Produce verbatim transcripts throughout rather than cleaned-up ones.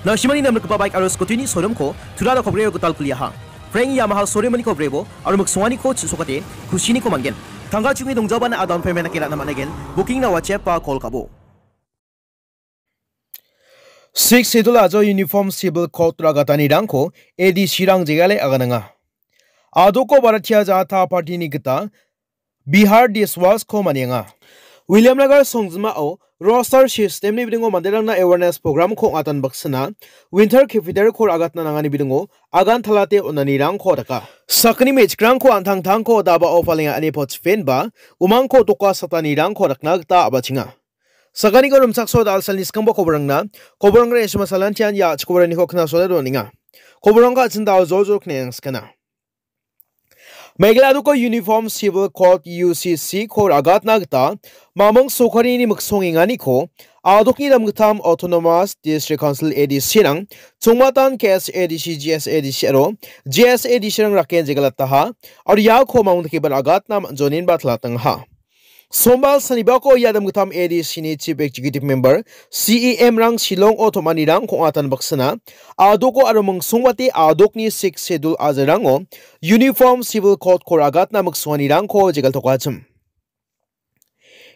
Na·simangni namrikgipa baik aro scooty-ni showroom-ko Tura Rokhobrio gital kuliaha. Frank Yamaha showroom-niko brebo aro miksonganiko chisokate kusiniko man·gen. Tangka chingni dongjabana a-down payment dake ra·na man·aigen. Booking-na WhatsApp-a call ka·bo. Sixth Schedule ajo Uniform Civil Code ragatanirangko A D C-rang jegale agananga. A·doko Bharatiya Janata Party-ni gita Bihar Dishwas-ko manianga. Williamnagar songjinmao roster system-ni bidingo manderangna awareness program-ko ong·atan baksana winter capital-ko ra·gatna nangani bidingo agan talate on·anirangko daka. Sakgni me·chikrangko an·tangtangko dabao palenga ine pochipenba umangko doka satanirangko dakna gita a·bachenga. Sakaniko rimchakso dal·salni skangba koborangna, koborangna isima salantian ia chikobaraniko knasole donenga. Koborangko a·chin dal jol jol kneng skana. Meghalaya a·doko Uniform Civil Code U C C-ko ra·gatna gita mamung sorkarini miksongenganiko a·dokni damgittam Autonomous District Council A D C-rang chongmatan K S A D C, G S A D C aro J S A D C-rang raken jegalataha aro iako mamung dakeba ra·gatna man·joninba talatangaha. Sombal sanibako ia damgittam A D C-ni Chief Executive Member, C E M-rang Shillong-o tom·anirangko ong·atan baksana, a·doko aro mingsongbate a·dokni Sixth Schedule ajarango Uniform Civil Code-ko ra·gatna miksonganirangko jegaltokachim.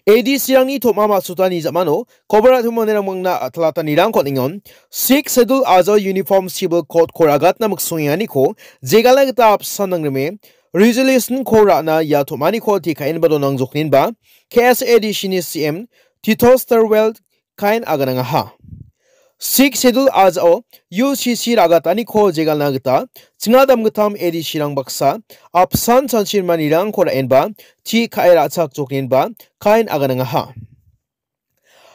A D C-rangni tom·a ma·sotani ja·mano kobor a·timo manderang mangna talatanirangko ningon, Sixth Schedule ajo Uniform Civil Code-ko ra·gatna miksongenganiko jegalna gita apsan nangrime, resolution-ko ra·na ia tom·aniko tekaenba donangjokninba K S A D C-ni C M Tito Stilwell kaen aganangaha. Sixth Schedule ajao U C C ra·gataniko jegalna gita chinga damgittam A D C-rang baksa apsan chanchirmanirangko ra·enba ti ka·e ra·chakjokninba kaen aganangaha.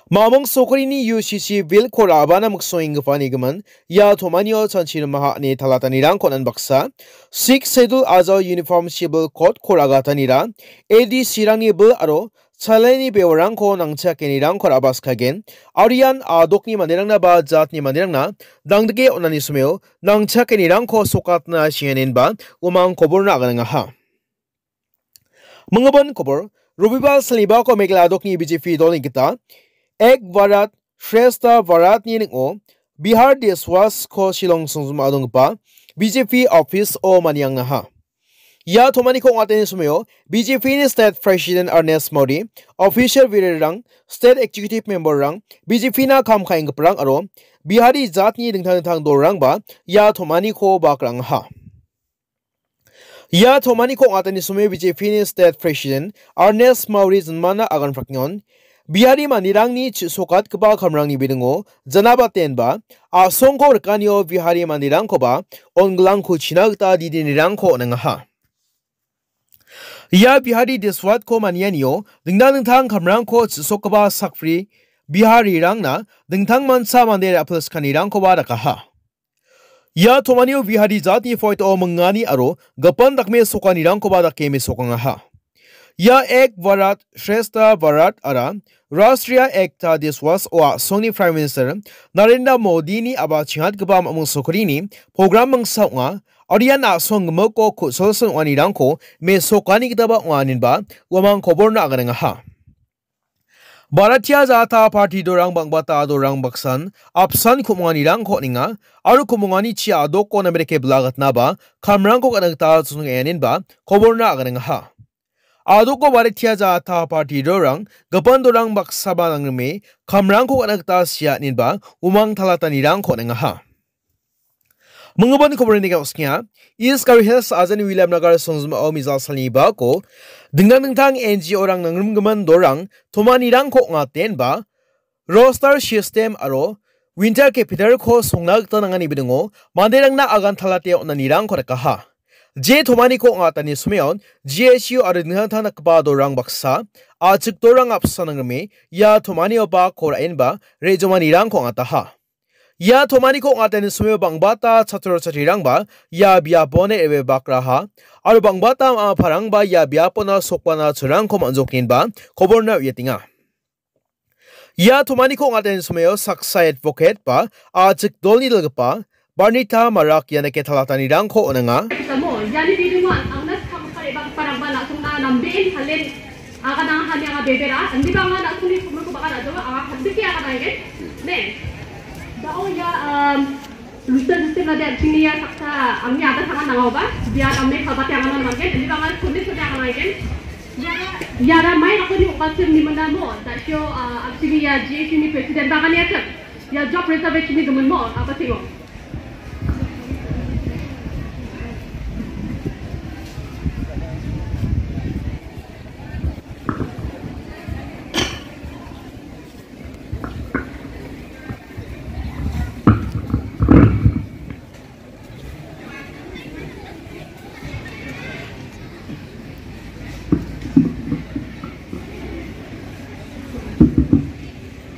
Mamung sorkarini U C C bill-ko ra·bana miksongenggipa nigimin ia tom·anio chanchirimaha ine talatanirangko on·an baksa, Sixth Schedule ajo Uniform Civil Code-ko ra·gatanira A D C-rangni bill aro chalani bewarangko nangchakenirangko ra·baskagen, aro ian a·dokni manderangnaba jatni manderangna dangdike on·ani someo nangchakenirangko sokatna sienenba umang koborna aganangaha. Minggimin kobor, Robibar salnibako Meghalaya a·dokni B J P dolni gita Ek Bharat Shreshtha Bharat-ni ning·o Bihar Dishwas-ko Shillong songjinmao donggipa B J P office-o maniangaha. Ia tom·aniko ong·atani somao B J P-ni State President Ernest Modi, official birirang, State Executive Member-rang, B J P-na kam ka·enggiparang aro Bihari jatni dingtang dingtang dolrangba ia tom·aniko bak ra·angaha. Ia tom·aniko ong·atani somao B J P-ni State President Ernest Modi jinmana agan prakngon, Bihari manderangni chi·sokatgipa kamrangni bidingo janabatenba a·songko rikanio Bihari manderangkoba ongilangko china gita didinirangko on·angaha. Ia Bihari Dishwas-ko manianio dingtang dingtang kamrangko chi·sokgipa sakbri Biharirangna dingtang mancha mande ra·pilskanirangkoba dakaha. Ia tom·anio Bihari jatni poito mingani aro gipin dakmesokanirangkoba dake mesokangaha. Ia Ek Bharat Shreshtha Bharat ara Rashtriya Ekta Dishwas-o a·songni Prime Minister Narendra Modini a·ba chingatgipa mamung sorkarini program mingsa ong·a, aro ian a·song gimikko ku·silsil ong·anirangko mesokani gitaba ong·a inenba uamang koborna aganangaha. Bharatiya Janata Party dolrang bang·bata dolrang baksan apsan ku·monganirangko on·enga aro ku·mongani chi a·doko namerike bilagatnaba kamrangko ka·na gita chonenga inenba koborna aganangaha. A·doko Bharatiya Janata Party dolrang gipin dolrang baksaba nangrime kamrangko ka·na gita sia inenba umang talatanirangko on·engaha. Minggimin koborni ka·oskenga, East Garo Hills ajani Williamnagar songjinmao mejal salni bako dingtang dingtang N G O-rang nangrimgimin dolrang tom·anirangko ong·atenba roster system aro winter capital-ko songna gita nangani bidingo manderangna agan talate on·anirangko dakaha. Je tom·aniko ong·atani someon G S U aro dingtang dingtang dakgipa dolrang baksa, a·chik dolrang apsan nangrime ia tom·anio bako ra·enba re·jomanirangko ong·ataha. Ia tom·aniko ong·atani somao bang·bata chatro chatrirangba ia biapon re·bae bakraha aro bang·bata ama·parangba ia biapona sokbana churangko man·jokgenba koborna uiatenga. Ia tom·aniko ong·atani somao saksa advocate ba a·chik dolni dilgipa Barnita Marak ianike talatanirangko on·enga. Samo, iani bidingo an·, angna skang pare bang parang ba na·songna namden halen Aga nang hani aga bebera, andi bang na suni kumur ko baka na jawa, aga handi ki aga nang gen. Ne. Oh ya, um, Rooster District nade an·chingni ia saksa angni ada tangan nangaoba, dia namme kalbate anganan manggen, ini bangan kuni sode anganan manggen. Iara, iara mai rakoni okasir ni menamo, dasio, uh, an·chingni ia G A C ni president bagani atem. Ia job reservation ni gemen mo, apa singo.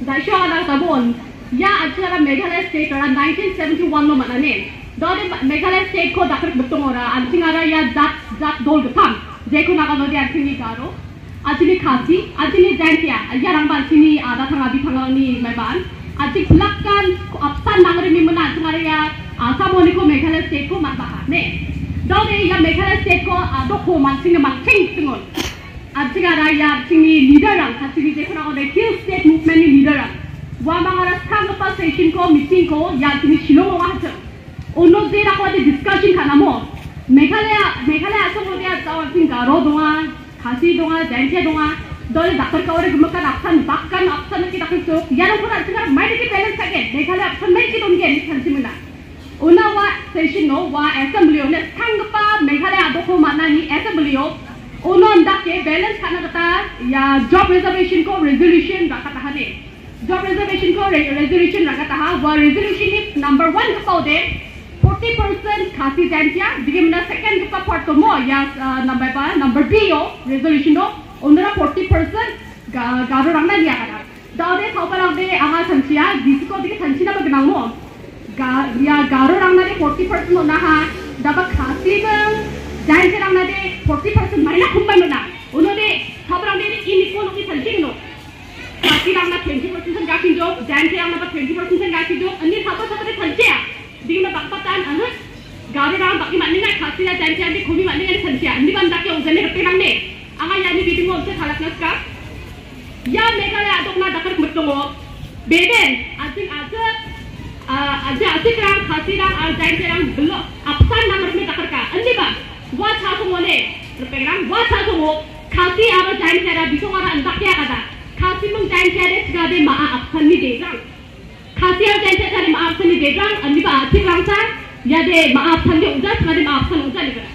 Daisho anak sabon, ya acara Meghalaya State ora nineteen seventy-one lo manane. Dode Meghalaya State ko dakar betong ora, anting ara ya jat, jat dol getam. Jeko naga nodi anting ni Garo. Ajini Khasi, ajini Jaintia, ya rangba ajini ada tanga bitanga ni maiban. Aji pelakan ko apsan nangri mi mena anting ara ya, ah, sabon ko Meghalaya State ko mat baha, ne. Dode ya Meghalaya State ko, ah, doko mansing ne mansing tengon. Anting ara ya anting ni leader rang, Khasi ni jeko naga nodi Hill State Movement ni leader rang. Wa mangara skang lepa session ko, meeting ko, ya anting ni Shillong wa hajar. Uno je rako ade discussion ka·namo. Meghalaya, Meghalaya asongo dia jawon sing Garo donga, Khasi donga, Jaintia donga. Dole dakar ka ore gumaka apsan, bakkan apsan ki dakar sok. Iarangkon an·ching mai dake balance ka·gen. Meghalaya apsan mai ki dongen ni chanchi mena. Una wa session no, wa assembly o, ne skanggipa Meghalaya adoko manani assembly o. Uno andake balance ka·na gita, ia job reservation ko resolution rakatahane. Job reservation ko re-, resolution rakataha, wa resolution ni number one ka pau de, forty percent Khasi Jaintia, digi mena second ka pa part tomo, ya, uh, number ba, number B o, resolution o, onora forty percent ga-, Garo rangna lia kada. Dao de, tau parang de, anga sanchia, disiko digi sanchina ba gnang mo. Ga-, ya, Garo rangna de forty percent ona ha, daba Khasi bang, Jaintia rangna de forty percent maina kumbai mena. Ono de, tau parang de, ini ko no ki sanchi no. Khasi rangna twenty percent sen gakin jok, Jaintia rangna ba twenty percent sen gakin jok, ani sapa sapa de thanchia. Dingna bakpatan, aha. Garo rang baki maninga, Khasi na Jaintia di kumi maninga ni thanchia. Ani ban dake ujani repe nang ne. Anga yani bidingo ujani halak naska. Ya Meghalaya adokna dakar metongo. Beben, asing asik, ah, asing asik rang, Khasi rang, ah, Jaintia rang, belo, apsan nang reme dakar ka. Ani ba, wa cha songo ne, repe rang, wa cha songo, Khasi aro Jaintia ra, bisong ara andak ya kada. Khasi mung Jaintia de sigade maa apsan ni de rang. Khasi aro Jaintia tari maaf sani begrang, ani ba atik rangsa, ya de maaf sani uja, sani maaf sani uja ni kena.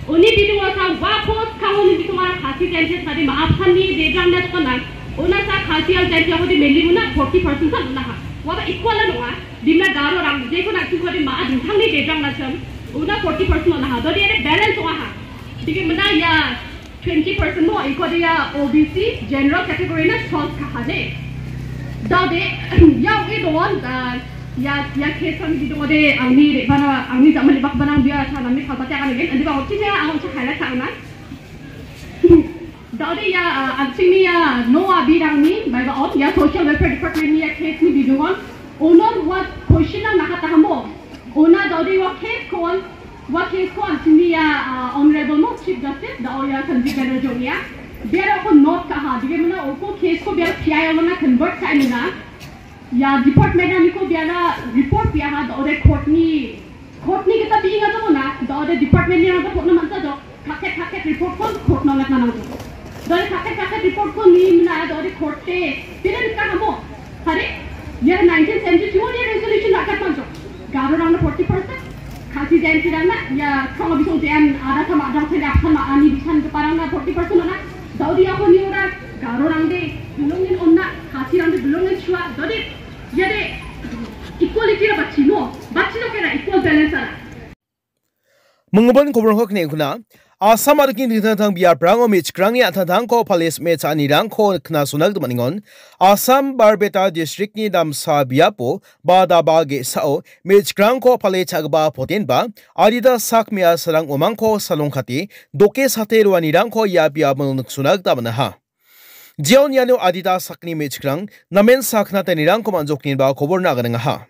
Oni bidung wasa wa pos kang oni bidung wara Khasi Jaintia sani maaf sani begrang na tukana. Ona sa Khasi aro Jaintia hodi meli muna forty percent san ona ha. Wa ba equal la nonga. Dimna Garo rang, je ko na tu hodi maaf dintang ni begrang na sam. Ona forty percent ona ha. Dodi ere balance ona ha. Digi mena ya, twenty percent mo, iko dia O B C general category na twelve ka hade. Dao de, ya, ui dongon, ah, ya, ya, case kami di dongo de, angni re bana, angni zaman di bak bana dia, cha nami kau pati akan again, andi bang ochi ya, ang ochi highlight ka na. Dao de ya, ah, anching ni ya, no abi rang ni, bai ba on, ya, social welfare department ni ya, case ni di dongon, onor what question na nakata hamo, ona dao de wa case kon, Wa case ko anching ni ya, ah, Honorable mo Chief Justice, da o ya Sanjib Banerjee ya. Biara ko note ka ha, dige mena o ko case ko biara P I L na convert ka mena. Ya department na ni ko biara report ya ha, da o de court ni, court ni kita bi inga to na, da o de department ni na report na manta jo, paket paket report ko court na ngat na nang jo. Da o de paket paket report ko ni mena, da o de court te, biara ka ha mo. Hari, ya nineteen seventy-two ni resolution rakat man jo. Garo rang na forty percent. Khasi Jaintia rang na, ya, kong bisong J M, ada sama ada saya apa sama ani bisan ke parang na forty percent na. Daudi aku ni ora, Garo rang de, belongin onna, Khasi rang de, belongin chua, Daudi, ya de, equality ra bachino, bachino kena equal balance ara. Mingubon koborangko kne·kuna, Assam adikni dingtang dingtang biaprango me·chikrangni an·tangtangko pale sime cha·anirangko knasona gita man·engon. Assam Barbeta districtni damsa biapo ba daba ge·sao me·chikrangko pale cha·gipa potenba adita sak me·asarang uamangko salongkate doke sate roanirangko ia biapo niksona gita man·aha. Jeon iano adita sakni me·chikrang namen sakna tanirangko man·jokniba koborna aganengaha.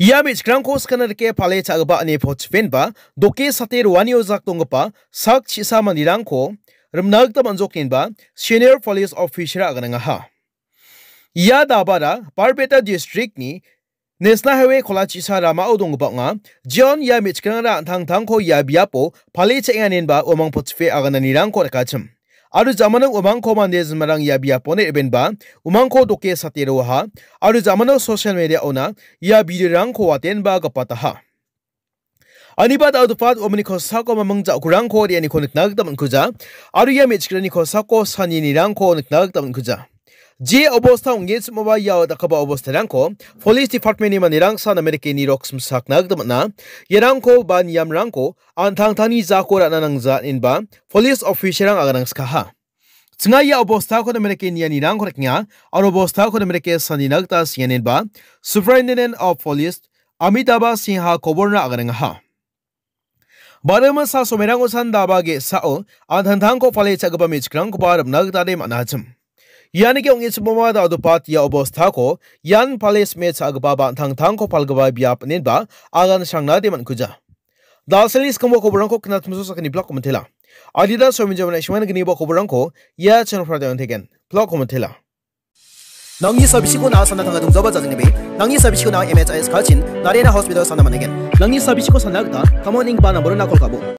Ia me·chikrangko skana rike pale cha·gipa ine pochipenba doke sate roani ojak donggipa sak chisa manderangko rimna gita man·jokgenba senior police officer aganengaha. Ia dabara Barbeta districtni National Highway kolachisa ramao donggipa ong·a. Jeon ia me·chikrangra an·tangtangko ia biapo pale cha·enga inenba uamang potchipe agananirangko rikachim. Aro jamano uamangko mande jinmarang ia biaponi re·benba umangko doke sate roaha. Aro jamano social media-ona ia video-rangko watenba gapataha. Aniba da·odopat uamangni kosako maming ja·okurangko re·aniko nikna gita man·kuja. Aro ia me·chikrani kosako saninirangko nikna gita man·kuja. Je obosta ong·genchimoba ia dakgipa obostarangko Police Department-ni manderangsa namerikeni rok simsakna gita man·a. Iarangko ba niamrangko an·tangtangni jako ra·na nangja inenba Police officer-rang aganangskaha. Chinga ia obostako namerike nianirangko rikenga, aro obostako namerike sanina gita sienenba Superintendent of Police Amitabha Singha koborna aganengaha. Barima sa somerang osan daba ge·sao an·tangtangko pale cha·gipa me·chikrangkoba rimna gita de man·achim. Ianike ong·e chiboma da·odopat ia obostako ian pale sime cha·gipa ba an·tangtangko palgipa biap inenba agan srangna de man·kuja. Dalsani skangbo koborangko knatmso sakani blog komentela. Adida sominjamana ishwan gnibo koborangko ia channel pradon tegen blog komentela. Nangni sabisiko na sana tanga dongzaba jajeng nebe. Nangni sabisiko na M H I S kachin Narena Hospital sana manegen. Nangni sabisiko sana gita kamon ning ba number na call kabo.